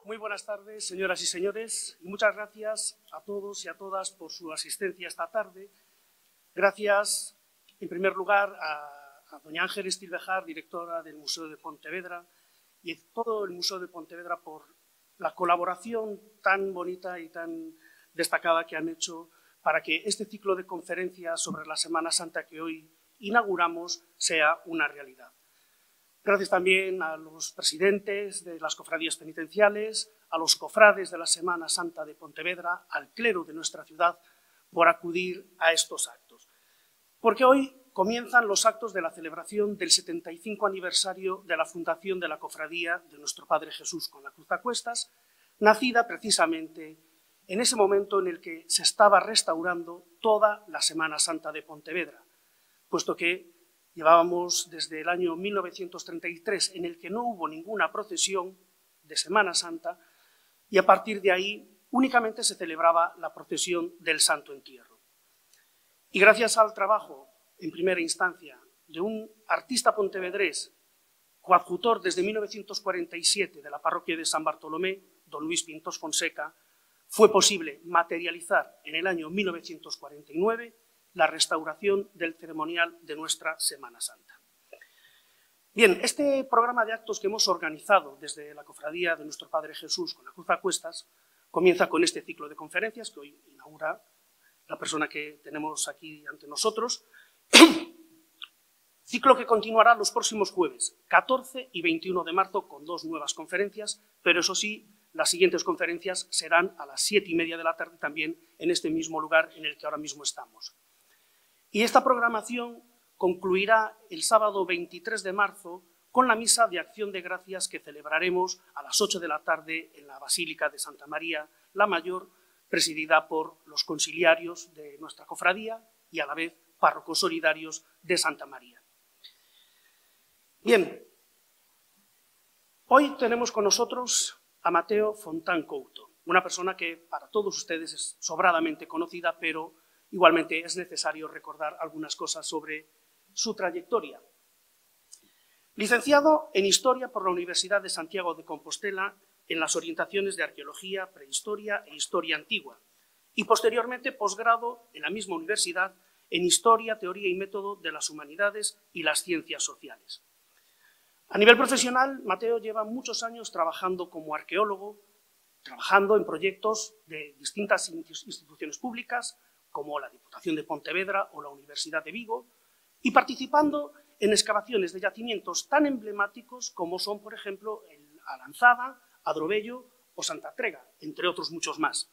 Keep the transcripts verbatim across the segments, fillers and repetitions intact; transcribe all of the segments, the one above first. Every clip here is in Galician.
Muy buenas tardes, señoras y señores, y muchas gracias a todos y a todas por su asistencia esta tarde. Gracias, en primer lugar, a, a doña Ángeles Tilvejar, directora del Museo de Pontevedra, y a todo el Museo de Pontevedra por la colaboración tan bonita y tan destacada que han hecho para que este ciclo de conferencias sobre la Semana Santa que hoy inauguramos sea una realidad. Gracias también a los presidentes de las cofradías penitenciales, a los cofrades de la Semana Santa de Pontevedra, al clero de nuestra ciudad, por acudir a estos actos. Porque hoy comienzan los actos de la celebración del setenta y cinco aniversario de la fundación de la Cofradía de Nuestro Padre Jesús con la Cruz a Cuestas, nacida precisamente en ese momento en el que se estaba restaurando toda la Semana Santa de Pontevedra, puesto que llevábamos desde el año mil novecientos treinta y tres en el que no hubo ninguna procesión de Semana Santa y a partir de ahí únicamente se celebraba la procesión del Santo Entierro. Y gracias al trabajo, en primera instancia, de un artista pontevedrés, coadjutor desde mil novecientos cuarenta y siete de la parroquia de San Bartolomé, don Luis Pintos Fonseca, fue posible materializar en el año mil novecientos cuarenta y nueve la restauración del ceremonial de nuestra Semana Santa. Bien, este programa de actos que hemos organizado desde la Cofradía de Nuestro Padre Jesús con la Cruz a Cuestas comienza con este ciclo de conferencias que hoy inaugura la persona que tenemos aquí ante nosotros, ciclo que continuará los próximos jueves, catorce y veintiuno de marzo, con dos nuevas conferencias, pero eso sí, las siguientes conferencias serán a las siete y media de la tarde también en este mismo lugar en el que ahora mismo estamos. Y esta programación concluirá el sábado veintitrés de marzo con la misa de acción de gracias que celebraremos a las ocho de la tarde en la Basílica de Santa María la Mayor, presidida por los conciliarios de nuestra cofradía y a la vez párrocos solidarios de Santa María. Bien, hoy tenemos con nosotros a Mateo Fontán Couto, una persona que para todos ustedes es sobradamente conocida, pero igualmente es necesario recordar algunas cosas sobre su trayectoria. Licenciado en Historia por la Universidad de Santiago de Compostela en las orientaciones de Arqueología, Prehistoria e Historia Antigua, y posteriormente posgrado en la misma universidad en Historia, Teoría y Método de las Humanidades y las Ciencias Sociales. A nivel profesional, Mateo lleva muchos años trabajando como arqueólogo, trabajando en proyectos de distintas instituciones públicas, como la Diputación de Pontevedra o la Universidad de Vigo, y participando en excavaciones de yacimientos tan emblemáticos como son, por ejemplo, el Alanzada, Adrobello o Santa Trega, entre otros muchos más.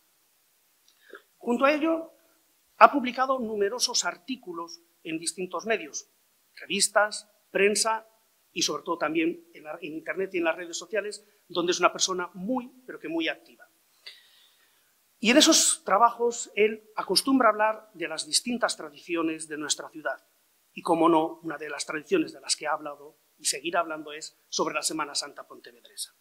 Junto a ello, ha publicado numerosos artículos en distintos medios, revistas, prensa y sobre todo también en, la, en Internet y en las redes sociales, donde es una persona muy, pero que muy activa. Y en esos trabajos él acostumbra hablar de las distintas tradiciones de nuestra ciudad. Y, como no, una de las tradiciones de las que ha hablado y seguirá hablando es sobre la Semana Santa pontevedresa.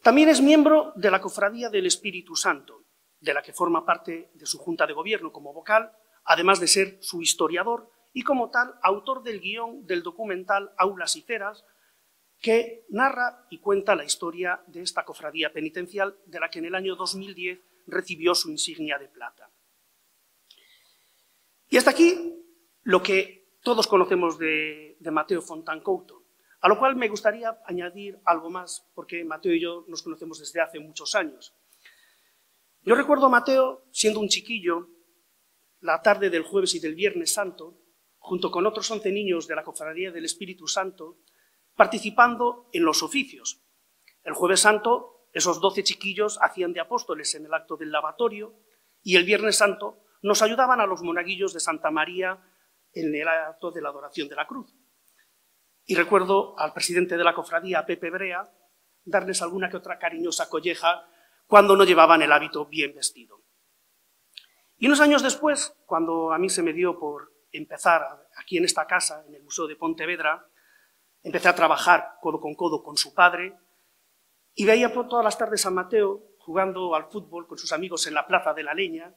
También es miembro de la Cofradía del Espíritu Santo, de la que forma parte de su Junta de Gobierno como vocal, además de ser su historiador y, como tal, autor del guión del documental Aulas y Ceras, que narra y cuenta la historia de esta cofradía penitencial de la que en el año dos mil diez recibió su insignia de plata. Y hasta aquí lo que todos conocemos de, de Mateo Fontán Couto, a lo cual me gustaría añadir algo más, porque Mateo y yo nos conocemos desde hace muchos años. Yo recuerdo a Mateo siendo un chiquillo, la tarde del jueves y del viernes santo, junto con otros once niños de la Cofradía del Espíritu Santo, participando en los oficios. El jueves santo, esos doce chiquillos hacían de apóstoles en el acto del lavatorio y el viernes santo nos ayudaban a los monaguillos de Santa María en el acto de la adoración de la cruz. Y recuerdo al presidente de la cofradía, Pepe Brea, darles alguna que otra cariñosa colleja cuando no llevaban el hábito bien vestido. Y unos años después, cuando a mí se me dio por empezar aquí en esta casa, en el Museo de Pontevedra, empecé a trabajar codo con codo con su padre y veía por todas las tardes a Mateo jugando al fútbol con sus amigos en la Plaza de la Leña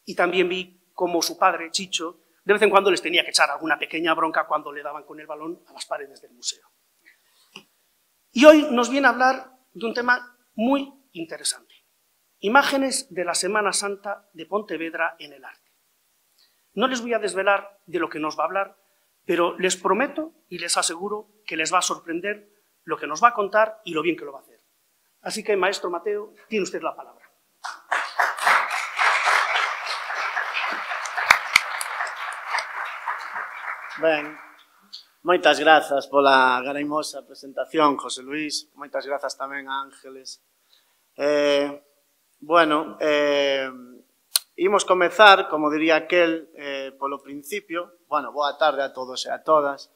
y también vi cómo su padre, Chicho, de vez en cuando les tenía que echar alguna pequeña bronca cuando le daban con el balón a las paredes del museo. Y hoy nos viene a hablar dun tema moi interesante. Imágenes de la Semana Santa de Pontevedra en el arte. No les voy a desvelar de lo que nos va a hablar, pero les prometo y les aseguro que les va a sorprender lo que nos va a contar y lo bien que lo va a hacer. Así que, maestro Mateo, tiene usted la palabra. Ben, moitas grazas pola garaimosa presentación, José Luís. Moitas grazas tamén a Ángeles. Eh, bueno, eh, imos comezar, como diría aquel, eh, polo principio. Bueno, boa tarde a todos e a todas.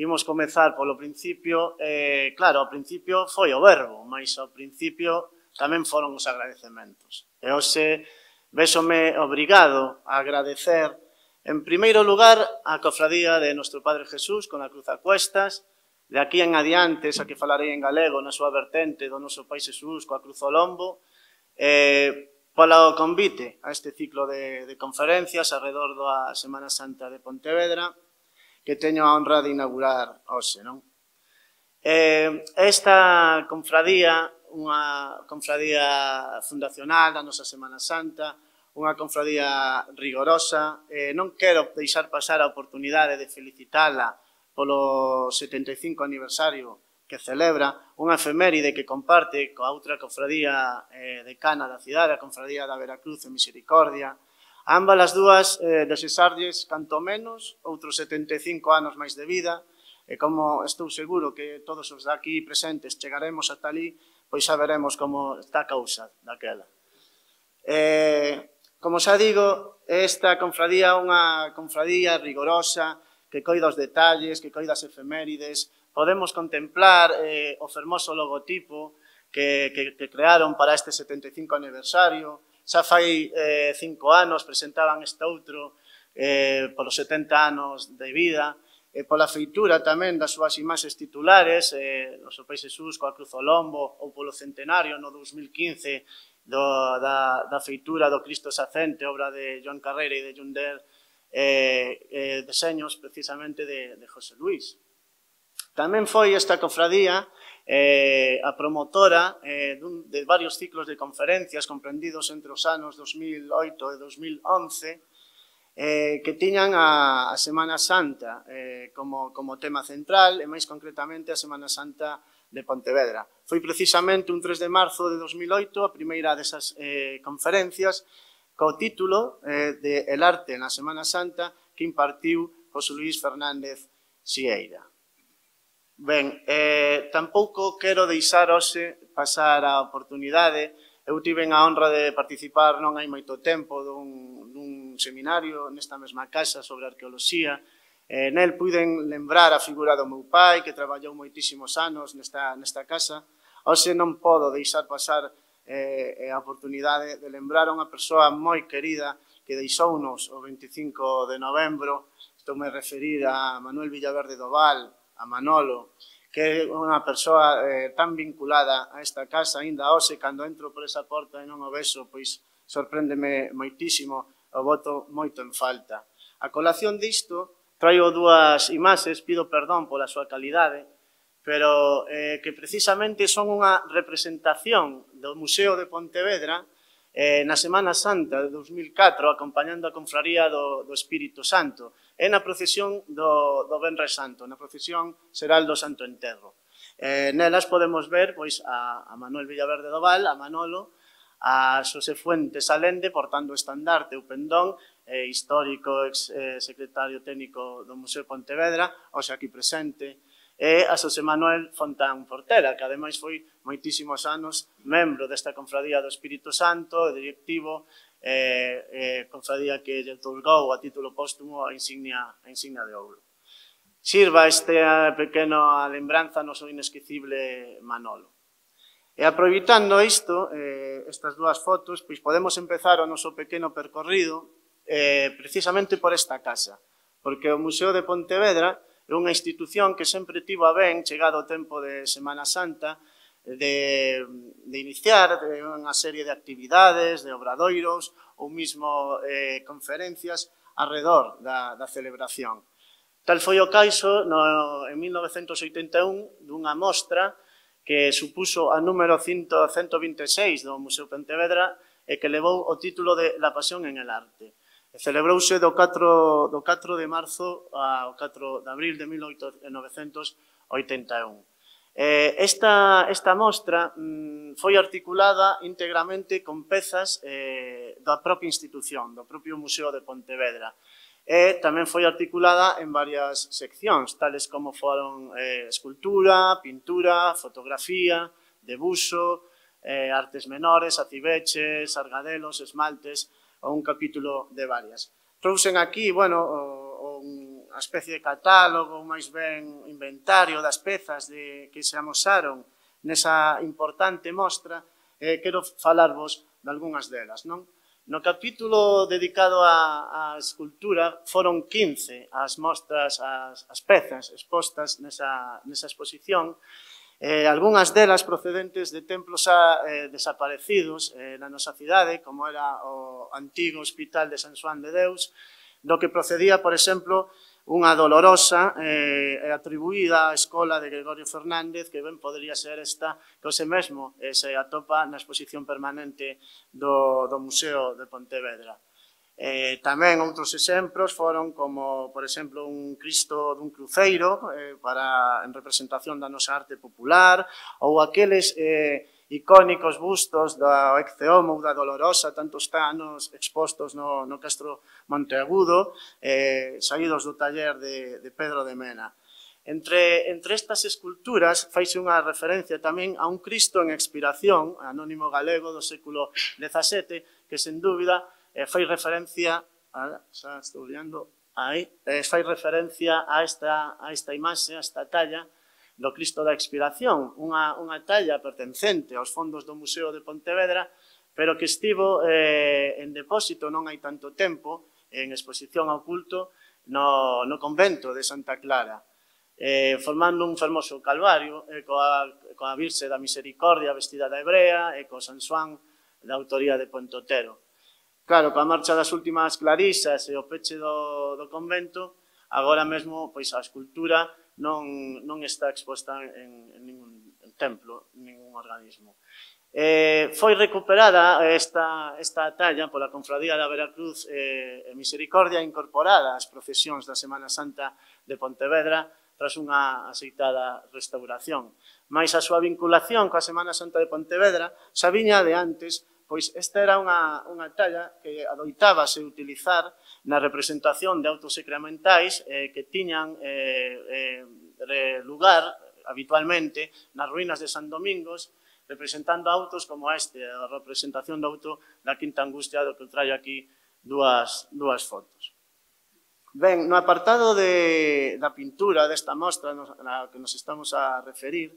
Imos comezar polo principio. Eh, claro, ao principio foi o verbo, mas ao principio tamén foron os agradecementos. E hoxe véxome obrigado a agradecer, en primeiro lugar, a cofradía de Nuestro Padre Jesús con a cruz a cuestas, de aquí en adiante, esa que falarei en galego na súa vertente do Noso Pai Jesús coa cruz ao lombo, eh, polo convite a este ciclo de, de conferencias alrededor da Semana Santa de Pontevedra, que teño a honra de inaugurar hoxe, non? Eh, esta confradía, unha confradía fundacional da nosa Semana Santa, unha confradía rigorosa, eh, non quero deixar pasar a oportunidade de felicitala polo setenta e cinco aniversario que celebra, unha efeméride que comparte coa outra confradía eh, decana da cidade, a confradía da Veracruz e Misericordia. Ambas as dúas eh, desexarlles, canto menos, outros setenta e cinco anos máis de vida, e como estou seguro que todos os daqui presentes chegaremos ata ali, pois xa veremos como está a causa daquela. Eh, como xa digo, esta confradía é unha confradía rigorosa, que coida os detalles, que coida as efemérides. Podemos contemplar eh, o fermoso logotipo que, que, que crearon para este setenta e cinco aniversario. Xa fai eh, cinco anos presentaban este outro eh, polos setenta anos de vida, e pola feitura tamén das súas imaxes titulares, eh, Noso Pai Jesús coa cruz ao lombo, ou polo centenario no dous mil quince do, da, da feitura do Cristo Sacente, obra de Joan Carreira e de Junder, eh, eh, deseños precisamente de, de José Luís. Tamén foi esta cofradía eh, a promotora eh, dun, de varios ciclos de conferencias comprendidos entre os anos dos mil oito e dos mil once, eh, que tiñan a, a Semana Santa eh, como, como tema central, e máis concretamente a Semana Santa de Pontevedra. Foi precisamente un tres de marzo de dos mil oito a primeira desas eh, conferencias co título eh, de El arte na Semana Santa que impartiu José Luís Fernández Sieira. Ben, eh, tampouco quero deixar hoxe pasar a oportunidade. Eu tiven a honra de participar non hai moito tempo dun, dun seminario nesta mesma casa sobre arqueoloxía. Eh, nel puiden lembrar a figura do meu pai, que traballou moitísimos anos nesta, nesta casa. Hoxe non podo deixar pasar eh, a oportunidade de lembrar a unha persoa moi querida que deixounos o veinticinco de novembro. Estou me referir a Manuel Villaverde do Val, a Manolo, que é unha persoa eh, tan vinculada a esta casa, aínda hoxe, cando entro por esa porta e non o vexo, pois sorpréndeme moitísimo, o boto moito en falta. A colación disto, traio dúas imaxes, pido perdón pola súa calidade, pero eh, que precisamente son unha representación do Museo de Pontevedra eh, na Semana Santa de dos mil catro, acompañando a confraría do, do Espírito Santo, e na procesión do, do Venres Santo, na procesión xeral do Santo Enterro. Eh, nelas podemos ver pois, a, a Manuel Villaverde do Val, a Manolo, a Xosé Fuentes Alende, portando o estandarte, o pendón, eh, histórico, ex eh, secretario técnico do Museo de Pontevedra, hoxe aquí presente, e a Xosé Manuel Fontán Fortera, que ademais foi moitísimos anos membro desta confradía do Espírito Santo, directivo, eh, eh, confradía que lle otorgou a título póstumo a insignia, a insignia de ouro. Sirva esta pequena lembranza no seu inesquecible Manolo. E aproveitando isto, eh, estas dúas fotos, pois podemos empezar o noso pequeno percorrido eh, precisamente por esta casa, porque o Museo de Pontevedra é unha institución que sempre tivo a ben, chegado o tempo de Semana Santa, de, de iniciar unha serie de actividades, de obradoiros ou mismo eh, conferencias alrededor da, da celebración. Tal foi o caso no, en mil novecentos oitenta e un dunha mostra que supuso a número cento vinte e seis do Museo Pontevedra e que levou o título de La pasión en el arte. Celebrouse do catro de marzo ao catro de abril de mil novecentos oitenta e un. Esta, esta mostra mm, foi articulada íntegramente con pezas eh, da propia institución, do propio Museo de Pontevedra. E tamén foi articulada en varias seccións, tales como foron eh, escultura, pintura, fotografía, debuxo, eh, artes menores, aciveches, argadelos, esmaltes, ou un capítulo de varias. Trouxen aquí, bueno, o, o, unha especie de catálogo, máis ben inventario das pezas de, que se amosaron nesa importante mostra, e eh, quero falarvos de algunhas delas, non? No capítulo dedicado á escultura foron quince as mostras, as, as pezas expostas nesa, nesa exposición, eh, algunhas delas procedentes de templos a, eh, desaparecidos eh, na nosa cidade, como era o antigo Hospital de San Xoán de Deus, do que procedía, por exemplo, unha dolorosa eh, atribuída á escola de Gregorio Fernández, que ben podría ser esta, que hoxe mesmo eh, se atopa na exposición permanente do, do Museo de Pontevedra. Eh, tamén outros exemplos foron como, por exemplo, un Cristo dun cruceiro eh, para, en representación da nosa arte popular, ou aqueles eh, icónicos bustos do Ecce Homo ou da Dolorosa, tantos anos expostos no, no Castro Monteagudo, eh, saídos do taller de, de Pedro de Mena. Entre, entre estas esculturas faise unha referencia tamén a un Cristo en expiración, anónimo galego do século dezasete, que sen dúbida eh, fai referencia, a, xa estou liando, aí, eh, fai referencia a esta, a esta imaxe, a esta talla, do Cristo da Expiración, unha, unha talla pertencente aos fondos do Museo de Pontevedra, pero que estivo eh, en depósito non hai tanto tempo, en exposición ao culto, no, no convento de Santa Clara, eh, formando un fermoso calvario eh, coa, coa Virxe da Misericordia vestida da hebrea e co San Xoán da autoría de Pontotero. Claro, coa marcha das últimas clarisas e o peche do, do convento, agora mesmo pois, a escultura non, non está exposta en, en ningún templo, en ningún organismo. Eh, foi recuperada esta, esta talla pola Confradía da Veracruz eh, e Misericordia incorporada ás procesións da Semana Santa de Pontevedra tras unha aceitada restauración. Mais a súa vinculación coa Semana Santa de Pontevedra xa viña de antes, pois esta era unha, unha talla que adoitábase utilizar na representación de autos sacramentais eh, que tiñan eh, eh, lugar habitualmente nas ruínas de San Domingos, representando autos como este, a representación do auto da Quinta Angustia, do que traio aquí dúas, dúas fotos. Ben, no apartado de, da pintura desta mostra na que nos estamos a referir,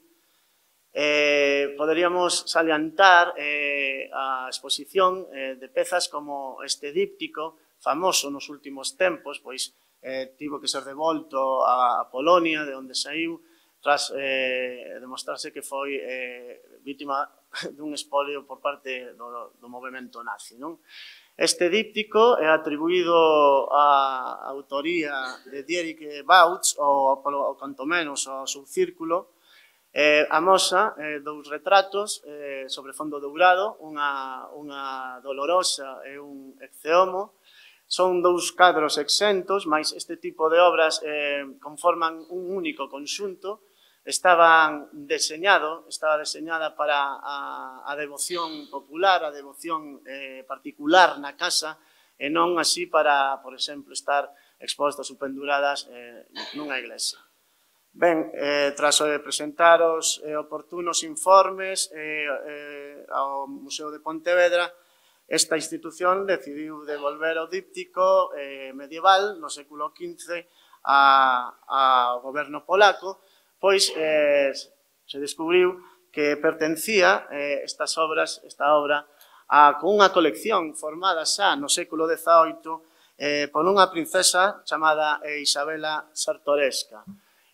eh, poderíamos salientar eh, a exposición eh, de pezas como este díptico, famoso nos últimos tempos, pois eh, tivo que ser devolto a, a Polonia, de onde saiu, tras eh, demostrarse que foi eh, vítima dun espolio por parte do, do movimento nazi, non? Este díptico é atribuído á autoría de Dietrich Bautz, ou, ou canto menos ao seu círculo. Eh, amosa eh, dous retratos eh, sobre fondo dourado, unha, unha dolorosa e un Ecce Homo. Son dous cadros exentos, mas este tipo de obras eh, conforman un único conxunto. Estaban deseñado, estaba deseñada para a, a devoción popular, a devoción eh, particular na casa, e non así para, por exemplo, estar expostas ou penduradas eh, nunha iglesia. Ben, eh, tras eh, presentar os eh, oportunos informes eh, eh, ao Museo de Pontevedra, esta institución decidiu devolver o díptico eh, medieval no século quince ao goberno polaco, pois eh, se descubriu que pertencía eh, estas obras, esta obra, a unha colección formada xa no século dezaoito eh, por unha princesa chamada Isabela Czartoryska.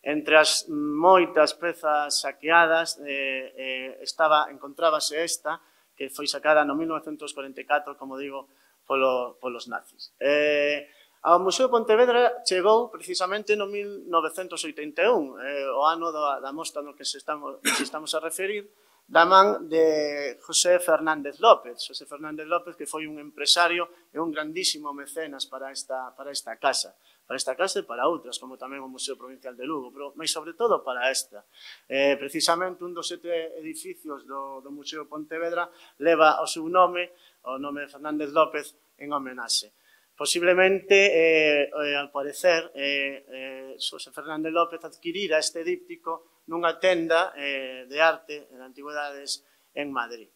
Entre as moitas pezas saqueadas eh, eh, estaba, encontrábase esta, que foi sacada no mil novecentos cuarenta e catro, como digo, polo, polos nazis. Eh, Ao Museo de Pontevedra chegou precisamente no mil novecentos oitenta e un, eh, o ano da, da mostra no que se estamos, se estamos a referir, da man de José Fernández López. José Fernández López, que foi un empresario e un grandísimo mecenas para esta, para esta casa. Para esta casa e para outras, como tamén o Museo Provincial de Lugo, pero, mas sobre todo para esta. Eh, precisamente un dos sete edificios do, do Museo de Pontevedra leva o seu nome, o nome de Fernández López, en homenaxe. Posiblemente, eh, eh, al parecer, eh, eh, José Fernández López adquirira este díptico nunha tenda eh, de arte de antigüedades en Madrid.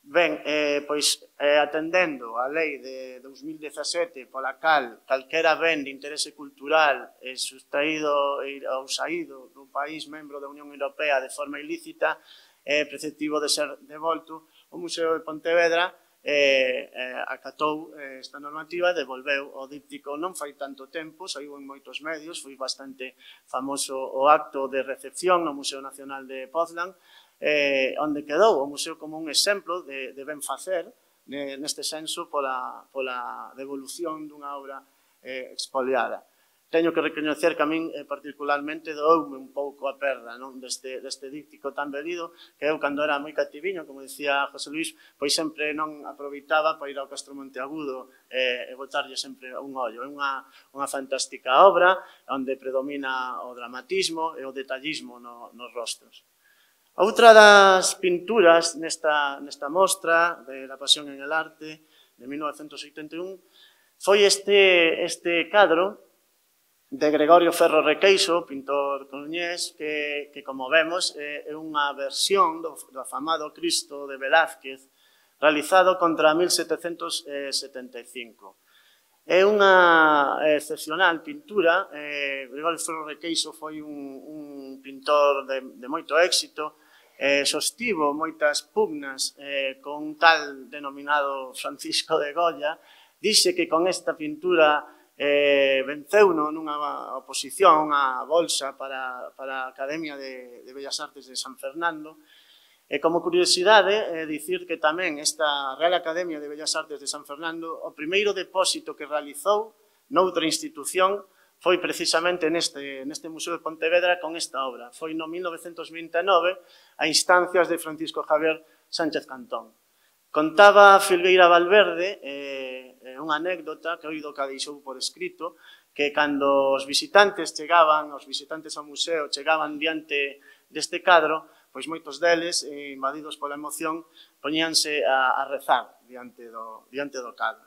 Ben, eh, pois, eh, atendendo a lei de dos mil dezasete, pola cal calquera ben de interese cultural é sustraído ou saído dun país membro da Unión Europea de forma ilícita, é preceptivo de ser devolto, o Museo de Pontevedra eh, eh, acatou eh, esta normativa e devolveu o díptico non fai tanto tempo, saiu en moitos medios, foi bastante famoso o acto de recepción no Museo Nacional de Poznan, eh, onde quedou o museo como un exemplo de, de ben facer, eh, neste senso, pola, pola devolución dunha obra eh, expoliada. Teño que recoñecer que a min eh, particularmente doume un pouco a perda non? Deste, deste díptico tan velido, que eu cando era moi cativiño, como dicía José Luís, pois sempre non aproveitaba para ir ao Castro Monteagudo eh, e botarlle sempre un ollo. É unha, unha fantástica obra onde predomina o dramatismo e o detallismo no, nos rostros. Outra das pinturas nesta, nesta mostra de La Pasión en el Arte de mil novecentos oitenta e un foi este, este cadro de Gregorio Ferro Requeixo, pintor coruñés, que, que como vemos é unha versión do, do afamado Cristo de Velázquez realizado contra mil setecentos setenta e cinco. É unha excepcional pintura. eh, Gregorio Ferro Requeixo foi un, un pintor de, de moito éxito, eh, sostivo moitas pugnas eh, con un tal denominado Francisco de Goya. Dixe que con esta pintura Eh, venceuno nunha oposición a bolsa para, para a Academia de, de Bellas Artes de San Fernando. E como curiosidade, eh, dicir que tamén esta Real Academia de Bellas Artes de San Fernando, o primeiro depósito que realizou noutra institución foi precisamente neste, neste Museo de Pontevedra con esta obra. Foi no mil novecentos vinte e nove a instancias de Francisco Javier Sánchez Cantón. Contaba Filgueira Valverde eh, unha anécdota que oído que a deixou por escrito, que cando os visitantes chegaban, os visitantes ao museo chegaban diante deste cadro, pois moitos deles, eh, invadidos pola emoción, poñíanse a, a rezar diante do, diante do cadro.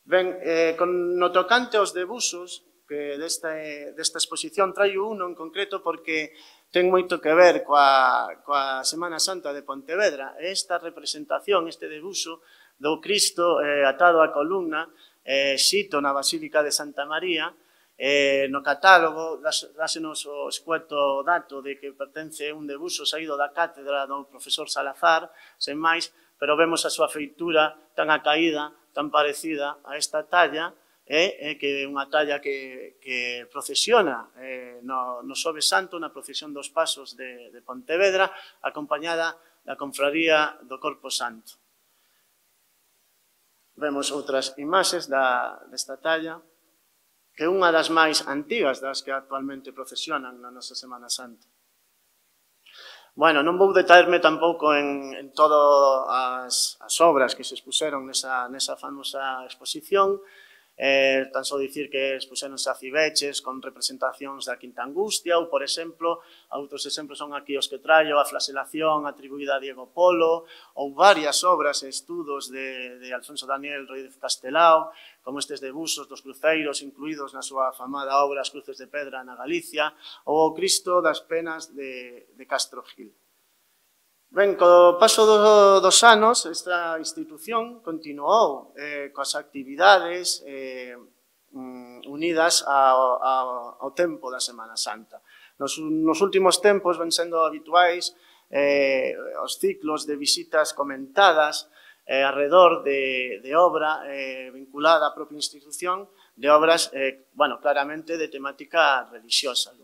Ben, eh, con no tocante aos debuxos que deste, desta exposición traio uno en concreto porque ten moito que ver coa, coa Semana Santa de Pontevedra. Esta representación, este debuxo do Cristo eh, atado á columna, eh, xito na Basílica de Santa María, eh, no catálogo dásenos o escueto dato de que pertence un debuxo saído da cátedra do profesor Salazar, sen máis, pero vemos a súa feitura tan acaída, tan parecida a esta talla, É, é que é unha talla que, que procesiona eh, no, no Xoves Santo, na procesión dos Pasos de, de Pontevedra, acompañada da Confraría do Corpo Santo. Vemos outras imaxes da, desta talla, que é unha das máis antigas das que actualmente procesionan na nosa Semana Santa. Bueno, non vou detallarme tampouco en, en todas as, as obras que se expuseron nesa, nesa famosa exposición. Eh, tan só dicir que expuseronse a Cibeches con representacións da Quinta Angustia ou, por exemplo, outros exemplos son aquí os que traio, a Flaselación atribuída a Diego Polo ou varias obras e estudos de, de Alfonso Daniel Rodríguez Castelao, como estes debuxos dos cruceiros incluídos na súa afamada obra As Cruces de Pedra na Galicia ou o Cristo das Penas de, de Castro Gil. Ben, co paso do, dos anos, esta institución continuou eh, coas actividades eh, unidas ao, ao, ao tempo da Semana Santa. Nos, nos últimos tempos ven sendo habituais eh, os ciclos de visitas comentadas eh, alrededor de, de obra eh, vinculada á propia institución, de obras, eh, bueno, claramente de temática religiosa.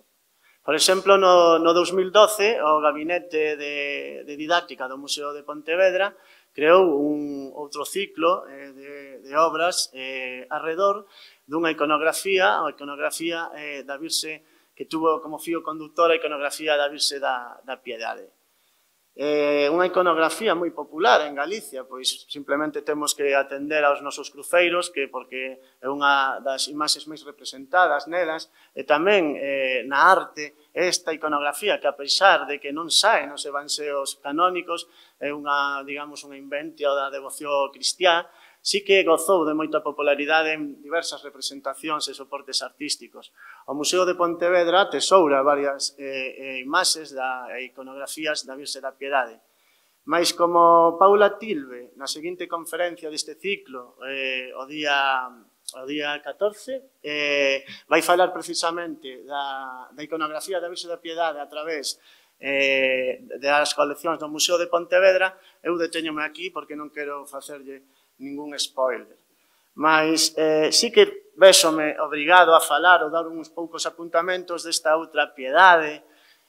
Por exemplo, no, no dos mil doce, o Gabinete de, de Didáctica do Museo de Pontevedra creou un outro ciclo eh, de, de obras eh, arredor dunha iconografía, a iconografía eh, da Virxe que tuvo como fío conductor a iconografía da Virxe da, da Piedade. Eh, unha iconografía moi popular en Galicia, pois simplemente temos que atender aos nosos cruceiros, que porque é unha das imaxes máis representadas nelas, e tamén eh, na arte esta iconografía que a pesar de que non sae nos evanxeos canónicos, é unha, digamos, unha inventia da devoción cristiá, sí que gozou de moita popularidade en diversas representacións e soportes artísticos. O Museo de Pontevedra tesoura varias eh, imaxes da iconografías da Virxe da Piedade. Mais como Paula Tilbe, na seguinte conferencia deste ciclo, eh, o día o día catorce, eh, vai falar precisamente da, da iconografía da Virxe da Piedade a través eh, das coleccións do Museo de Pontevedra, eu deteñome aquí porque non quero facerlle ningún spoiler. Mas eh, sí que véxome obrigado a falar ou dar uns poucos apuntamentos desta outra Piedade,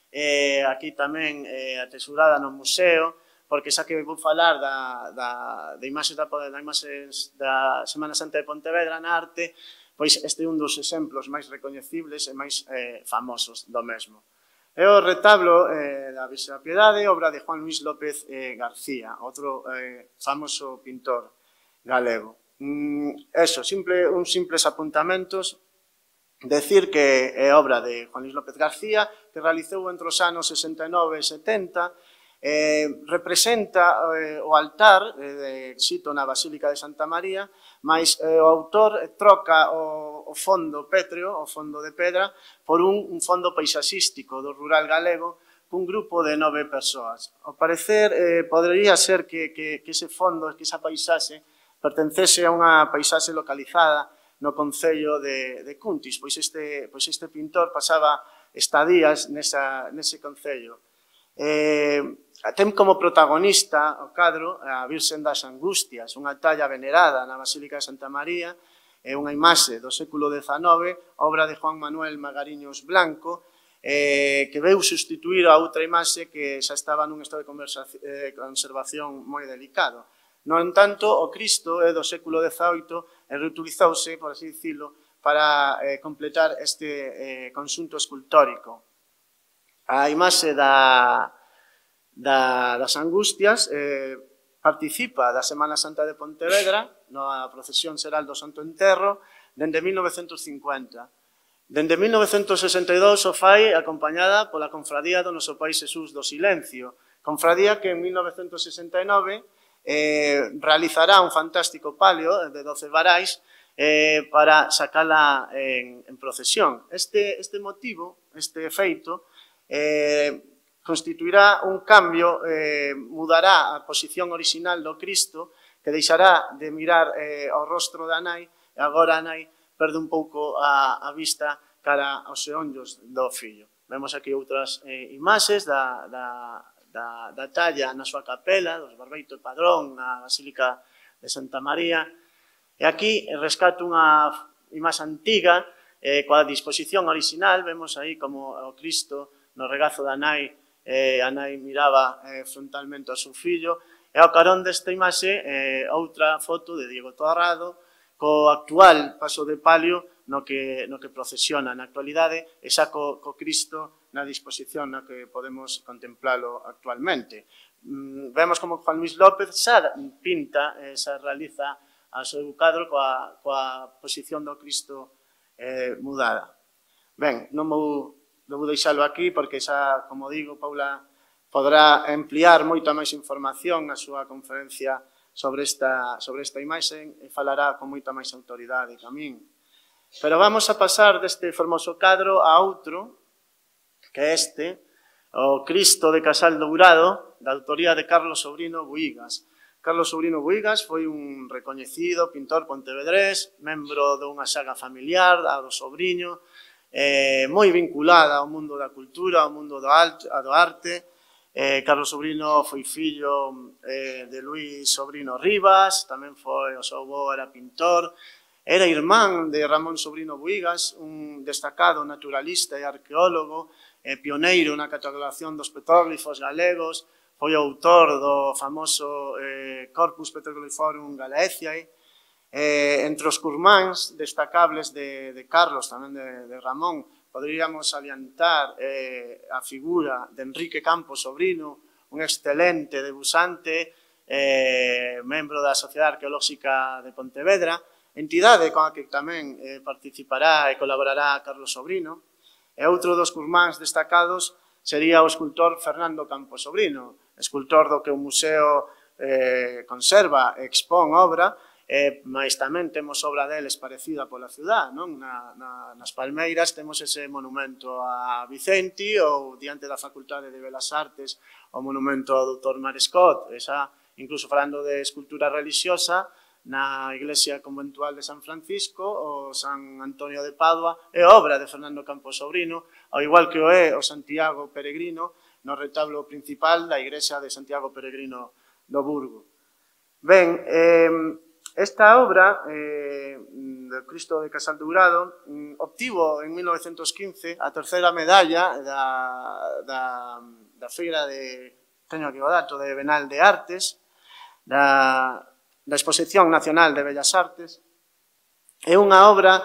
eh, aquí tamén eh, atesurada no museo, porque xa que vou falar da, da, da imaxes da, da, imaxes da Semana Santa de Pontevedra na arte, pois este é un dos exemplos máis recoñecibles e máis eh, famosos do mesmo. É o retablo eh, da Virxe da Piedade, obra de Juan Luis López eh, García, outro eh, famoso pintor galego. Mm, eso, simple, uns simples apuntamentos. Decir que é obra de Juan Luis López García, que realizou entre os anos sesenta e nove e setenta, eh, representa eh, o altar eh, de Xito na Basílica de Santa María, mas eh, o autor troca o, o fondo pétreo, o fondo de pedra, por un, un fondo paisaxístico do rural galego, cun grupo de nove persoas. Ao parecer, eh, podería ser que, que, que ese fondo, que esa paisaxe, pertencese a unha paisaxe localizada no concello de, de Cuntis, pois este, pois este pintor pasaba estadías nesa, nese concello. Eh, ten como protagonista o cadro a Virxen das Angustias, unha talla venerada na Basílica de Santa María, é unha imaxe do século dezanove, obra de Juan Manuel Magariños Blanco, eh, que veu sustituir a outra imaxe que xa estaba nun estado de eh, conservación moi delicado. No entanto, o Cristo é do século dezaoito e reutilizouse, por así dicilo, para eh, completar este eh, conxunto escultórico. A imaxe da, da, das Angustias eh, participa da Semana Santa de Pontevedra, na procesión xeral do Santo Enterro, dende mil novecentos cincuenta. Dende mil novecentos sesenta e dous o fai acompañada pola Confradía do Noso Pai Xesús do Silencio, confradía que en mil novecentos sesenta e nove eh, realizará un fantástico palio de doce varais eh, para sacala en, en procesión. Este, este motivo, este feito, eh, constituirá un cambio, eh, mudará a posición orixinal do Cristo, que deixará de mirar eh, ao rostro da nai, e agora a nai perde un pouco a, a vista cara aos xeonllos do fillo. Vemos aquí outras eh, imaxes da, da, da, da talla na súa capela, dos Barbeito e Padrón, na Basílica de Santa María. E aquí rescato unha imaxe antiga, eh, coa disposición orixinal, vemos aí como o Cristo no regazo da nai, eh, a nai miraba eh, frontalmente ao seu fillo, e ao carón desta imaxe, eh, outra foto de Diego Torrado, co actual paso de palio no que, no que procesiona na actualidade, e xa co, co Cristo na disposición na que podemos contemplalo actualmente. Mm, vemos como Juan Luis López xa pinta, eh, xa realiza a seu cadro coa, coa posición do Cristo eh, mudada. Ben, non vou, non vou deixalo aquí porque xa, como digo, Paula poderá ampliar moita máis información na súa conferencia sobre esta, sobre esta imaxe e falará con moita máis autoridade que a min. Pero vamos a pasar deste formoso cadro a outro, que é este, o Cristo de Casal Dourado, da autoría de Carlos Sobrino Buigas. Carlos Sobrino Buigas foi un recoñecido pintor pontevedrés, membro dunha saga familiar, a do Sobriño, eh, moi vinculada ao mundo da cultura, ao mundo do, alto, do arte. Eh, Carlos Sobrino foi fillo eh, de Luis Sobrino Rivas, tamén foi, o seu avó era pintor, era irmán de Ramón Sobrino Buigas, un destacado naturalista e arqueólogo, eh, pioneiro na catalogación dos petróglifos galegos, foi o autor do famoso eh, Corpus Petroliferum Galiciae. Eh, entre os curmáns destacables de, de Carlos, tamén de, de Ramón, poderíamos aliantar eh, a figura de Enrique Campos Sobrino, un excelente debusante, eh, membro da Sociedade Arqueolóxica de Pontevedra, entidade con a que tamén eh, participará e colaborará Carlos Sobrino. E outro dos curmáns destacados sería o escultor Fernando Campos Sobrino, escultor do que o museo eh, conserva e expón obra, Eh, mas tamén temos obra deles parecida pola ciudad, non? Na, na, nas Palmeiras temos ese monumento a Vicenti, ou diante da Facultade de Belas Artes o monumento ao doutor Marescot, esa, incluso falando de escultura religiosa, na iglesia conventual de San Francisco, o San Antonio de Padua, é obra de Fernando Campos Sobrino, ao igual que o é o Santiago Peregrino, no retablo principal da igrexa de Santiago Peregrino do Burgo. Ben, eh, esta obra, eh, do Cristo de Casal Dourado, obtivo en mil novecentos quince a terceira medalla da, da, da feira de, teño aquí o dato, de Benal de Artes, da, da Exposición Nacional de Bellas Artes. É unha obra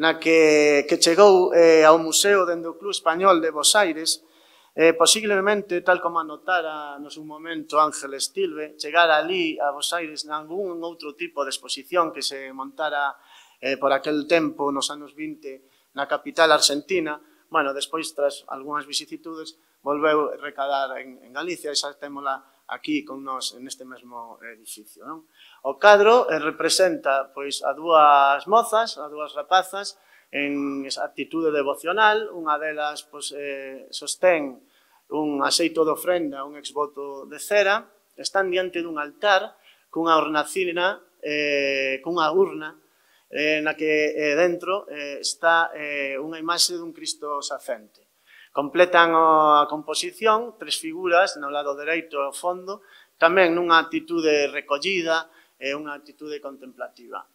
na que, que chegou eh, ao Museo dende o Club Español de Bos Aires. Eh, posiblemente, tal como anotara no seu momento Ángeles Tilbe, chegar ali a Bos Aires nalgún outro tipo de exposición que se montara eh, por aquel tempo, nos anos vinte, na capital argentina. Bueno, despois, tras algunhas vicisitudes, volveu recadar en, en Galicia e xa témola aquí con nós neste mesmo edificio, non? O cadro eh, representa pois, a dúas mozas, a dúas rapazas, en actitude devocional. Unha delas pois, eh, sostén un aceito de ofrenda, un exvoto de cera, están diante dun altar cunha hornacina, eh, cunha urna, eh, na que eh, dentro eh, está eh, unha imaxe dun Cristo sacente. Completan a composición tres figuras no lado dereito ao fondo, tamén nunha actitude recollida e unha actitude contemplativa.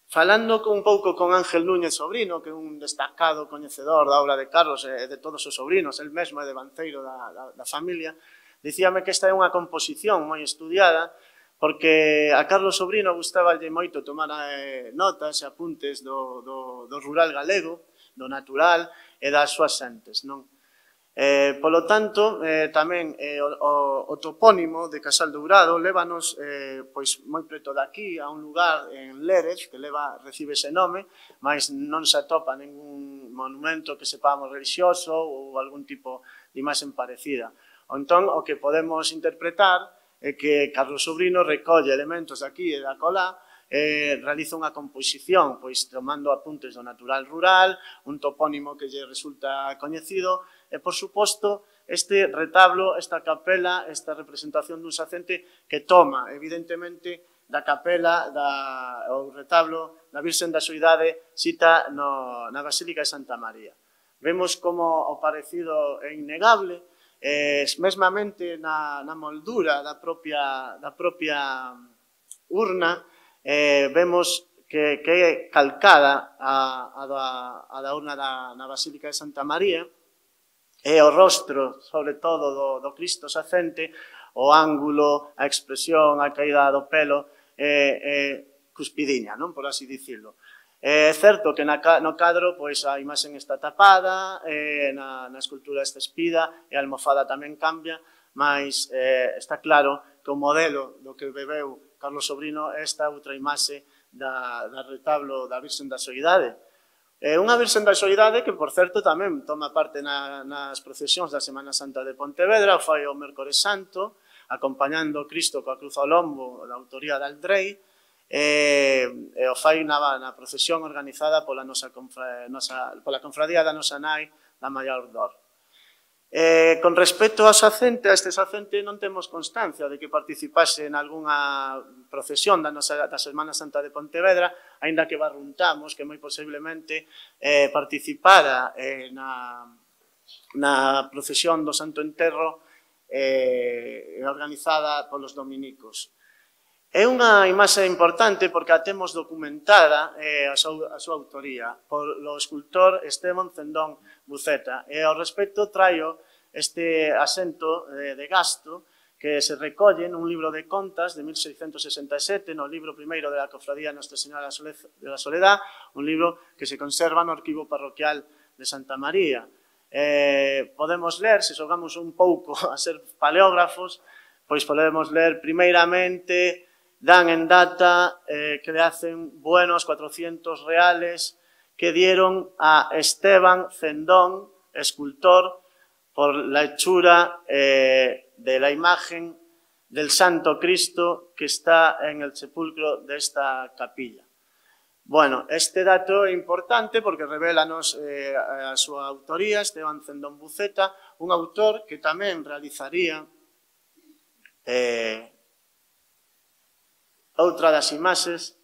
Falando un pouco con Ángel Núñez Sobrino, que é un destacado coñecedor da obra de Carlos e de todos os sobrinos, el mesmo é devanceiro da, da, da familia, dicíame que esta é unha composición moi estudiada, porque a Carlos Sobrino gustaballe moito tomar eh, notas e apuntes do, do, do rural galego, do natural e das súas xentes, non? Eh, polo tanto, eh, tamén eh, o, o topónimo de Casal Dourado lévanos eh, pois moi preto daqui a un lugar en Lérez que leva, recibe ese nome, mas non se atopa ningún monumento que sepamos religioso ou algún tipo de imaxe parecida. Entón, o que podemos interpretar é que Carlos Sobrino recolle elementos daqui e da colá, eh, realiza unha composición, pois tomando apuntes do natural rural, un topónimo que lle resulta coñecido, e, por suposto, este retablo, esta capela, esta representación dun sacente que toma, evidentemente, da capela, da, o retablo da Virxen da Soidade cita no, na Basílica de Santa María. Vemos como o parecido é innegable, eh, mesmamente na, na moldura da propia, da propia urna, eh, vemos que, que é calcada a, a, da, a da urna da, na Basílica de Santa María, e o rostro, sobre todo, do, do Cristo sacente, o ángulo, a expresión, a caída do pelo, é, é cuspidiña, non? Por así dicirlo. É certo que na, no cadro pois, a imaxen está tapada, eh, na, na escultura está espida, e a almofada tamén cambia, mas eh, está claro que o modelo do que bebeu Carlos Sobrino é esta outra imaxe da, da retablo da Virxen da Soidade. É unha Virxen da Soidade que, por certo, tamén toma parte na, nas procesións da Semana Santa de Pontevedra, o fai o Mércores Santo, acompañando Cristo coa cruz ao lombo da autoría de Aldrei, e, e o fai na, na procesión organizada pola, nosa, nosa, pola confradía da nosa nai, da Maior Dor. Eh, con respecto ao sacente, a este sacente non temos constancia de que participase en algunha procesión da, nosa, da Semana Santa de Pontevedra, aínda que barruntamos que moi posiblemente eh, participara eh, na, na procesión do Santo Enterro eh, organizada polos dominicos. É unha imaxe importante porque a temos documentada eh, a, súa, a súa autoría polo escultor Esteban Cendón Buceta. E ao respecto traio este asento eh, de gasto que se recolle nun libro de contas de mil seiscentos sesenta e sete, no libro primeiro de la Cofradía Nuestra Señora de la Soledad, un libro que se conserva no arquivo parroquial de Santa María. Eh, podemos ler, se xogamos un pouco a ser paleógrafos, pois podemos ler primeiramente, dan en data eh, que le hacen buenos cuatrocientos reales que dieron a Esteban Cendón, escultor, por la hechura eh, de la imagen del Santo Cristo que está en el sepulcro de esta capilla. Bueno, este dato é importante porque revelanos eh, a súa autoría, Esteban Cendón Buceta, un autor que tamén realizaría eh, outra das imaxes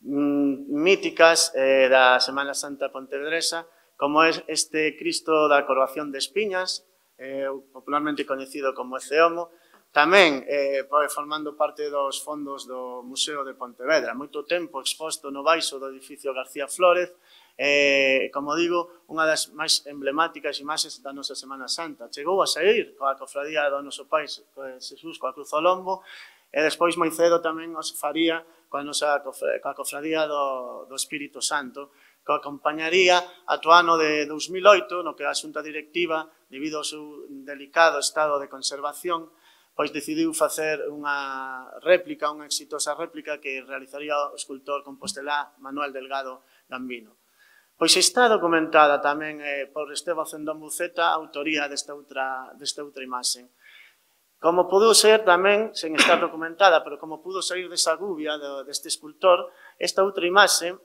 mm, míticas eh, da Semana Santa Pontevedresa, como é este Cristo da Coroación de Espiñas, eh, popularmente coñecido como Eceomo, tamén eh, formando parte dos fondos do Museo de Pontevedra, moito tempo exposto no baixo do edificio García Flórez, eh, como digo, unha das máis emblemáticas imaxes da nosa Semana Santa. Chegou a sair coa cofradía do noso Pai Xesús coa Cruz ao Lombo, e despois moi cedo tamén os faría coa nosa coa cofradía do, do Espírito Santo, que acompañaría ata o ano de dous mil oito, no que a Xunta Directiva, debido ao seu delicado estado de conservación, pois decidiu facer unha réplica, unha exitosa réplica que realizaría o escultor compostelá Manuel Delgado Gambino. Pois está documentada tamén eh, por Esteban Cendón Buceta a autoría desta outra, desta outra imaxe. Como pudo ser tamén, sen estar documentada, pero como pudo sair desa gubia deste escultor, esta outra imaxe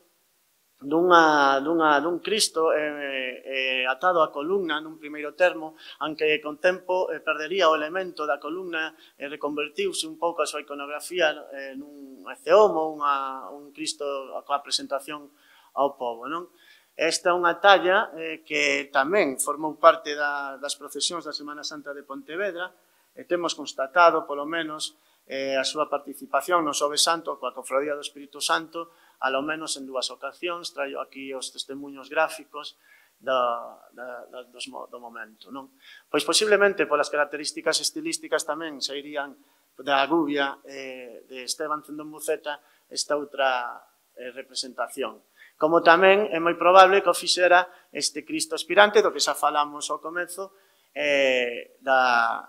dunha, dunha, dun Cristo eh, eh, atado á columna nun primeiro termo, aunque con tempo eh, perdería o elemento da columna e eh, reconvertiuse un pouco a súa iconografía eh, nun eceomo, unha, un Cristo coa presentación ao povo, non? Esta é unha talla eh, que tamén formou parte da, das procesións da Semana Santa de Pontevedra, e temos constatado, polo menos, eh, a súa participación no Xoves Santo coa Cofradía do Espírito Santo, alo menos en dúas ocasións, traio aquí os testemunhos gráficos do, da, da, dos, do momento. Non? Pois posiblemente polas características estilísticas tamén sairían da gubia eh, de Esteban Cendón Buceta esta outra eh, representación. Como tamén é moi probable que o fixera este Cristo aspirante, do que xa falamos ao comezo, eh, da,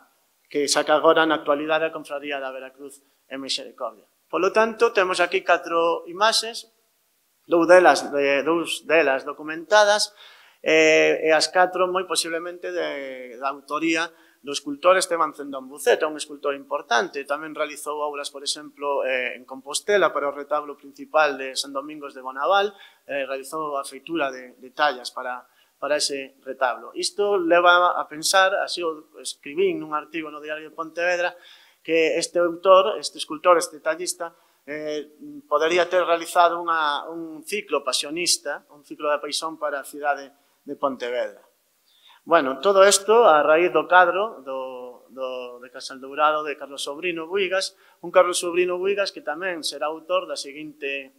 que saca agora na actualidade a Confraría da Veracruz en Misericordia. Polo tanto, temos aquí catro imaxes, dous delas, de, dous delas documentadas, eh, e as catro moi posiblemente de, da autoría do escultor Esteban Cendón Buceta, un escultor importante. Tamén realizou obras, por exemplo, eh, en Compostela para o retablo principal de San Domingos de Bonaval, eh, realizou a feitura de, de tallas para, para ese retablo. Isto leva a pensar, así o escribín nun artigo no Diario de Pontevedra, que este autor, este escultor, este tallista, eh, podería ter realizado unha, un ciclo pasionista, un ciclo de paixón para a cidade de Pontevedra. Bueno, todo isto a raíz do cadro do, do, de Casaldourado de Carlos Sobrino Buigas, un Carlos Sobrino Buigas que tamén será autor da seguinte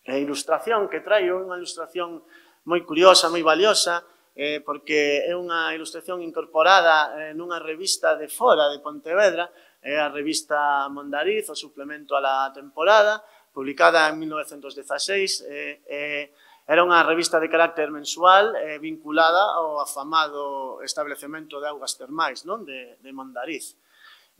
eh, ilustración que traio, unha ilustración moi curiosa, moi valiosa, eh, porque é unha ilustración incorporada eh, nunha revista de fora de Pontevedra, é a revista Mondariz, o suplemento a la temporada, publicada en mil novecentos dezaseis, eh, eh, era unha revista de carácter mensual eh, vinculada ao afamado establecemento de augas termais, non? De, de Mondariz.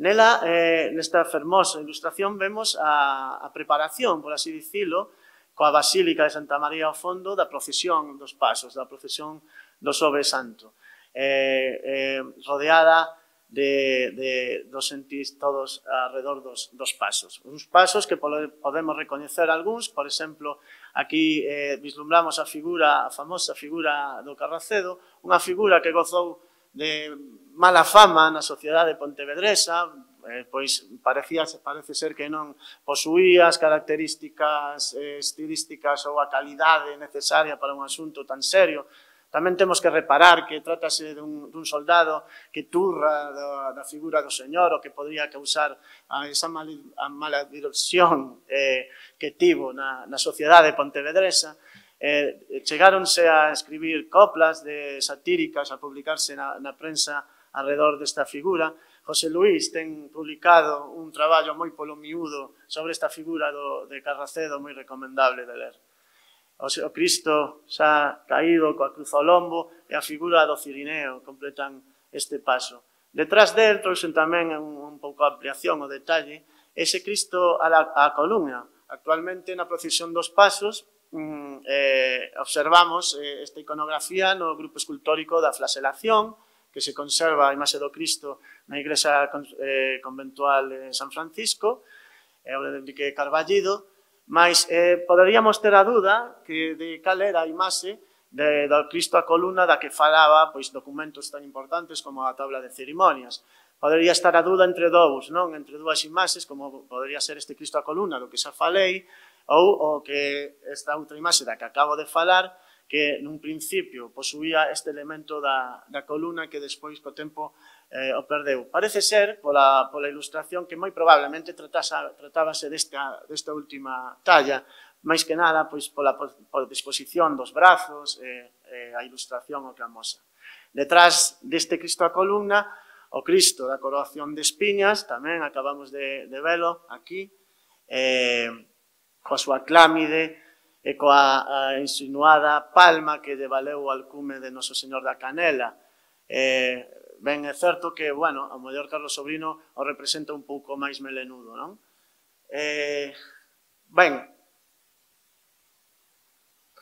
Nela, eh, nesta fermosa ilustración, vemos a, a preparación, por así dicilo, coa Basílica de Santa María ao fondo da procesión dos pasos, da procesión do Xoves Santo, eh, eh, rodeada de, de, dos sentís todos alrededor dos, dos pasos. Uns pasos que podemos recoñecer algúns, por exemplo, aquí eh, vislumbramos a figura, a famosa figura do Carracedo, unha figura que gozou de mala fama na sociedade pontevedresa, eh, pois parecía, parece ser que non posuía as características eh, estilísticas ou a calidade necesaria para un asunto tan serio. Tamén temos que reparar que trátase dun, dun soldado que turra da, da figura do señor o que podría causar a esa mal, a mala dirección eh, que tivo na, na sociedade pontevedresa. Eh, chegáronse a escribir coplas de satíricas, a publicarse na, na prensa alrededor desta figura, José Luís ten publicado un traballo moi polo miúdo sobre esta figura do, de Carracedo moi recomendable de ler. O, o Cristo xa caído coa cruz ao lombo e a figura do Cirineo completan este paso. Detrás del trouxen tamén un, un pouco a ampliación, o detalle, ese Cristo a, la, a columna. Actualmente na procesión dos pasos mm, eh, observamos eh, esta iconografía no grupo escultórico da Flaselación, que se conserva a imaxe do Cristo na igrexa eh, conventual de San Francisco, é o de Enrique Carballido, mas eh, poderíamos ter a dúda que de cal era a imaxe de, do Cristo a columna da que falaba pois, documentos tan importantes como a tabla de cerimonias. Podería estar a dúda entre dous, non? Entre dúas imaxes, como podería ser este Cristo a columna do que xa falei, ou o que esta outra imaxe da que acabo de falar, que nun principio posuía este elemento da, da columna que despois co tempo eh, o perdeu. Parece ser, pola, pola ilustración, que moi probablemente tratasa, tratábase desta, desta última talla, máis que nada pois, pola, pola disposición dos brazos, eh, eh, a ilustración o que amosa. Detrás deste Cristo a columna, o Cristo da coroación de espiñas, tamén acabamos de, de velo aquí, eh, coa súa clámide, e coa a insinuada palma que lle valeu o alcume de Noso Señor da Canela. Eh, ben, é certo que, bueno, o mellor Carlos Sobrino o representa un pouco máis melenudo, non? Eh, ben,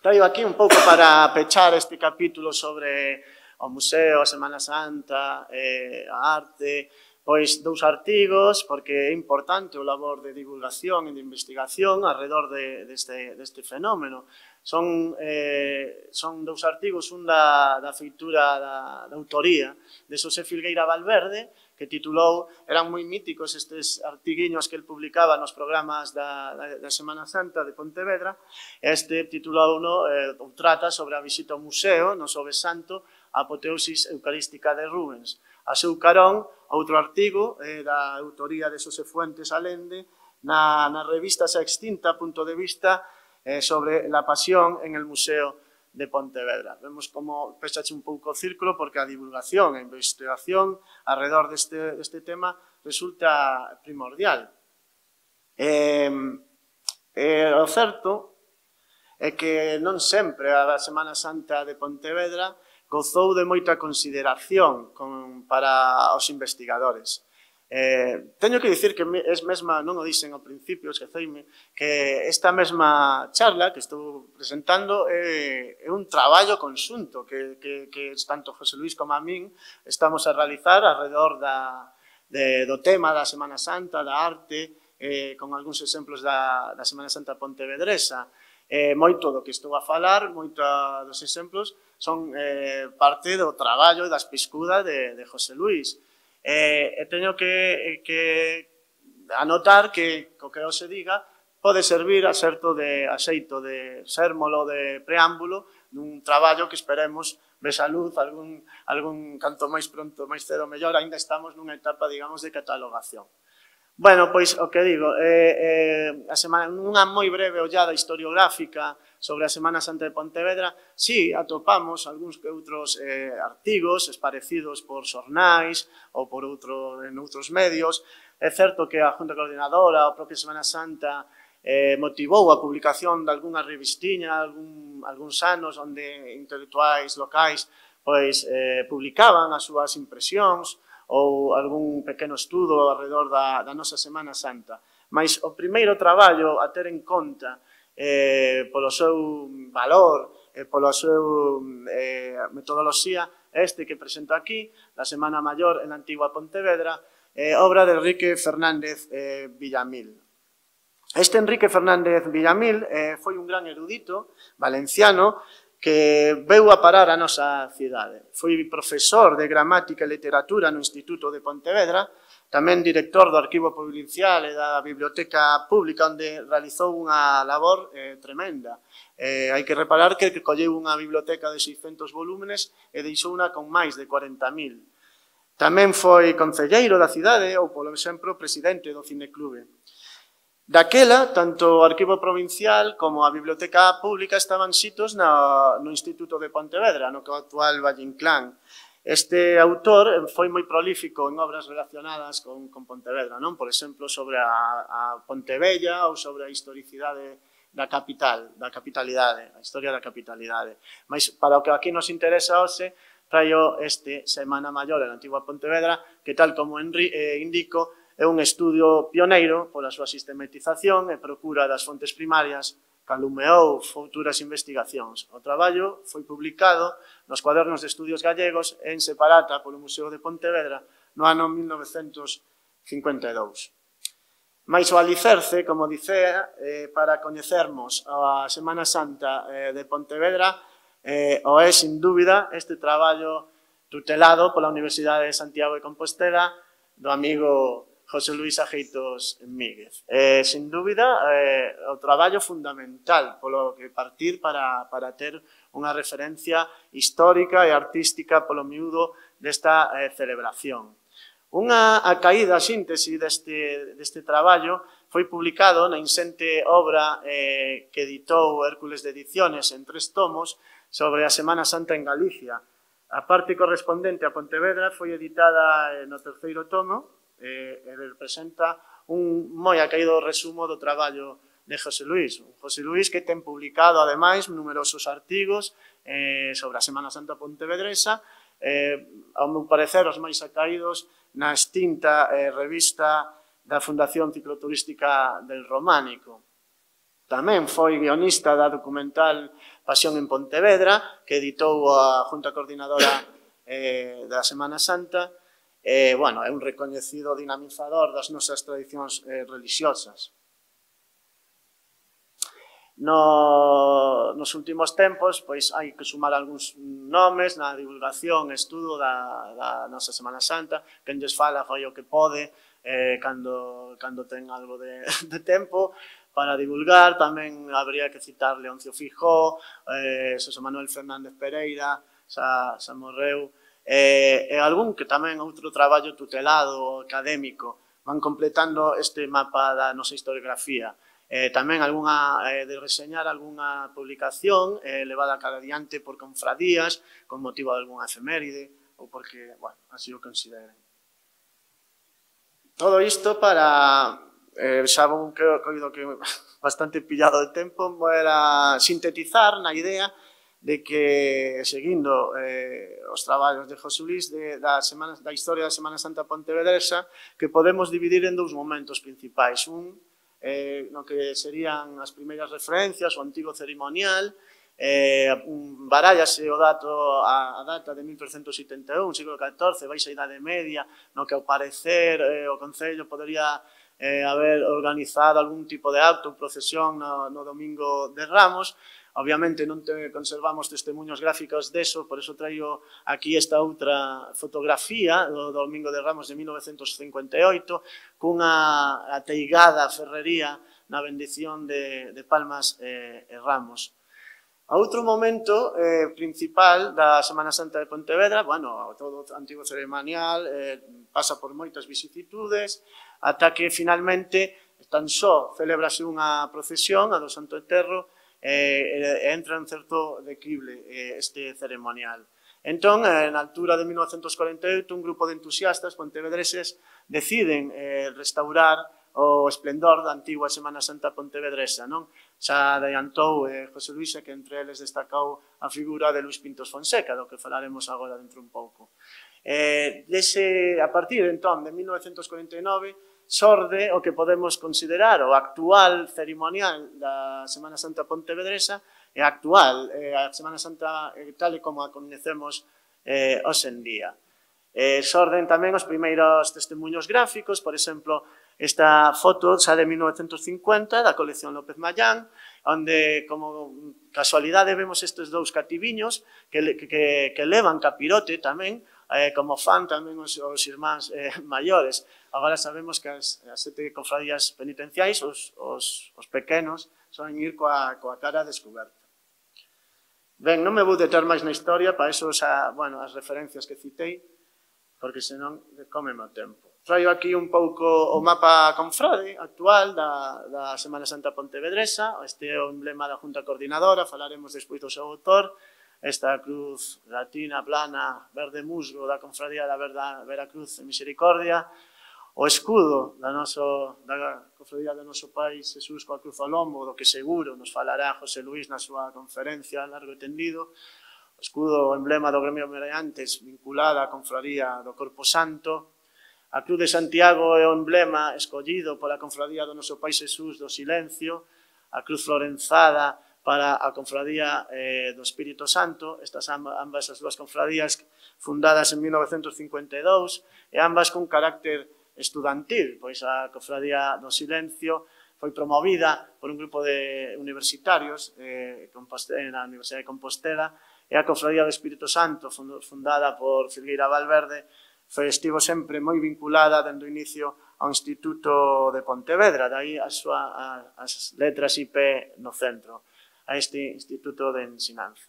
traigo aquí un pouco para pechar este capítulo sobre o museo, a Semana Santa, eh, a arte, pois dous artigos, porque é importante o labor de divulgación e de investigación alrededor de, deste, deste fenómeno. Son, eh, son dous artigos, un da, da feitura da, da autoría de Xosé Filgueira Valverde, que titulou, eran moi míticos estes artiguiños que el publicaba nos programas da, da, da Semana Santa de Pontevedra. Este titulou uno, eh, trata sobre a visita ao museo no Xoves Santo, a apoteosis eucarística de Rubens. A seu carón, outro artigo eh, da autoría de Xosé Fuentes Alende na, na revista xa extinta, Punto de Vista, eh, sobre la pasión en el Museo de Pontevedra. Vemos como pechache un pouco o círculo porque a divulgación e a investigación alrededor deste, deste tema resulta primordial. Eh, eh, o certo é que non sempre a Semana Santa de Pontevedra gozou de moita consideración con, para os investigadores. Eh, teño que dicir que es mesma, non o dixen ao principio, esqueceime, que esta mesma charla que estou presentando é, é un traballo conxunto que, que, que tanto José Luís como a min estamos a realizar alrededor da, de, do tema da Semana Santa, da arte, eh, con algúns exemplos da, da Semana Santa pontevedresa. Eh, moito do que estou a falar, moito dos exemplos, son eh, parte do traballo e das piscudas de, de José Luís. Eh, e teño que, que anotar que, co que se diga, pode servir a certo de axeito de sérmolo de preámbulo dun traballo que esperemos ves a luz algún, algún canto máis pronto, máis cedo mellor, ainda estamos nunha etapa, digamos, de catalogación. Bueno, pois, o que digo, eh, eh, a semana, nunha moi breve ollada historiográfica sobre a Semana Santa de Pontevedra, sí, atopamos algúns que outros eh, artigos esparecidos por xornais ou por outro, en outros medios. É certo que a Junta Coordinadora, a propia Semana Santa, eh, motivou a publicación de algunha revistiña, algún, algúns anos onde intelectuais locais pois, eh, publicaban as súas impresións, ou algún pequeno estudo alrededor da, da nosa Semana Santa. Mas o primeiro traballo a ter en conta eh, polo seu valor, eh, pola súa eh, metodoloxía, este que presento aquí, la Semana Maior en la antigua Pontevedra, eh, obra de Enrique Fernández eh, Villamil. Este Enrique Fernández Villamil eh, foi un gran erudito valenciano que veu a parar a nosa cidade. Foi profesor de gramática e literatura no Instituto de Pontevedra, tamén director do Arquivo Provincial e da Biblioteca Pública, onde realizou unha labor eh, tremenda. Eh, hai que reparar que colleu unha biblioteca de seiscentos volúmenes e deixou unha con máis de corenta mil. Tamén foi concelleiro da cidade ou, polo exemplo, presidente do Cineclube. Daquela, tanto o Arquivo Provincial como a Biblioteca Pública estaban sitos no, no Instituto de Pontevedra, no que actual Valle Inclán. Este autor foi moi prolífico en obras relacionadas con, con Pontevedra, non? Por exemplo, sobre a, a Pontevella ou sobre a historicidade da capital, da capitalidade, a historia da capitalidade. Mas para o que aquí nos interesa hoxe, traio este Semana Maior en a antigua Pontevedra, que tal como eh, indico, é un estudio pioneiro pola súa sistematización e procura das fontes primarias, calumeou futuras investigacións. O traballo foi publicado nos Cuadernos de Estudios Gallegos en separata polo Museo de Pontevedra no ano mil novecentos cincuenta e dous. Mais o alicerce, como dicea, eh, para coñecermos a Semana Santa eh, de Pontevedra eh, o é, sin dúbida, este traballo tutelado pola Universidade de Santiago de Compostela do amigo José Luis Ajeitos Míguez. Eh, sin dúbida, eh, o traballo fundamental polo que partir para, para ter unha referencia histórica e artística polo miúdo desta eh, celebración. Unha a caída, a síntese deste, deste traballo foi publicado na insente obra eh, que editou Hércules de Ediciones en tres tomos sobre a Semana Santa en Galicia. A parte correspondente a Pontevedra foi editada eh, no terceiro tomo, e representa un moi acaído resumo do traballo de José Luis. José Luis que ten publicado, ademais, numerosos artigos eh, sobre a Semana Santa pontevedresa, eh, ao meu parecer, os máis acaídos na extinta eh, revista da Fundación Cicloturística del Románico. Tamén foi guionista da documental Pasión en Pontevedra, que editou a Junta Coordinadora eh, da Semana Santa. Eh, bueno, é un recoñecido dinamizador das nosas tradicións eh, religiosas. No, nos últimos tempos, pois, hai que sumar algúns nomes na divulgación e estudo da, da nosa Semana Santa. Quen lles fala foi o que pode, eh, cando, cando ten algo de, de tempo para divulgar. Tamén habría que citar Leoncio Fijó, eh, Xosé Manuel Fernández Pereira, xa, xa morreu, e, e algún que tamén outro traballo tutelado académico van completando este mapa da nosa historiografía. Eh, tamén algunha, eh, de reseñar algunha publicación eh, levada cada diante por confradías con motivo de algunha efeméride ou porque, bueno, así o consideren. Todo isto para, eh, xa vou que coido que bastante pillado de tempo, era sintetizar na idea de que, seguindo eh, os traballos de José Luis de, da, semana, da historia da Semana Santa pontevedresa, que podemos dividir en dous momentos principais. Un, eh, no que serían as primeiras referencias, o antigo ceremonial, eh, barállase o dato, a, a data de mil trescentos setenta e un, siglo catorce, baixa idade media, no que ao parecer eh, o Concello podería eh, haber organizado algún tipo de acto ou procesión no, no domingo de Ramos. Obviamente non te conservamos testemunhos gráficos deso, por eso traio aquí esta outra fotografía do Domingo de Ramos de mil novecentos cincuenta e oito, cunha ateigada ferrería na bendición de, de Palmas e, e Ramos. A outro momento eh, principal da Semana Santa de Pontevedra, bueno, todo o antigo ceremonial eh, pasa por moitas vicisitudes, ata que finalmente tan só celebrase unha procesión, a do Santo Eterro, e entra en certo declive este ceremonial. Entón, na altura de mil novecentos corenta e oito, un grupo de entusiastas pontevedreses deciden restaurar o esplendor da antigua Semana Santa pontevedresa, non? Xa adiantou José Luis, que entre eles destacou a figura de Luis Pintos Fonseca, do que falaremos agora dentro un pouco. A partir, entón, de mil novecentos corenta e nove, xorde o que podemos considerar o actual ceremonial da Semana Santa pontevedresa e a actual, eh, a Semana Santa eh, tal e como a coñecemos eh, hoxe en día. Eh, xorden tamén os primeiros testemunhos gráficos, por exemplo, esta foto xa de mil novecentos cincuenta da colección López Mayán, onde, como casualidade, vemos estes dous cativiños que, que, que levan capirote tamén, eh, como fan tamén os, os irmáns eh, maiores. Agora sabemos que as, as sete cofradías penitenciais, os, os, os pequenos, son ir coa, coa cara descoberta. Ben, non me vou deter máis na historia, para eso xa, bueno, as referencias que citei, porque senón cómeme o tempo. Traio aquí un pouco o mapa confrade actual da, da Semana Santa pontevedresa, este é o emblema da Junta Coordinadora, falaremos despois do seu autor, esta cruz latina, plana, verde musgo da Confradía da Veracruz e Misericordia, o escudo da, noso, da Confradía do noso Pai Xesús coa cruz ao lombo, do que seguro nos falará José Luís na súa conferencia largo e tendido, o escudo, o emblema do gremio Meriantes vinculada á Confradía do Corpo Santo, a cruz de Santiago é o emblema escollido pola Confradía do noso Pai Xesús do Silencio, a cruz florenzada para a Confradía eh, do Espírito Santo, estas ambas as dúas confradías fundadas en mil novecentos cincuenta e dous, e ambas con carácter estudantil, pois a Confradía do Silencio foi promovida por un grupo de universitarios eh, na Universidade de Compostela, e a Confradía do Espírito Santo, fundada por Filgueira Valverde, foi, estivo sempre moi vinculada dende o inicio ao Instituto de Pontevedra, dai as, súa, as letras I P no centro, a este Instituto de Ensinanza.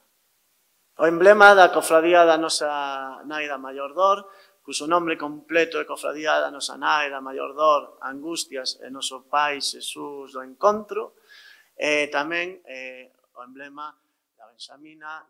O emblema da Cofradía da nosa Nai da Maiordor, cuso nome completo é Cofradía da nosa Nai da Maiordor, Angustias e noso Pai Xesús do Encontro, e tamén eh, o emblema da Benxamina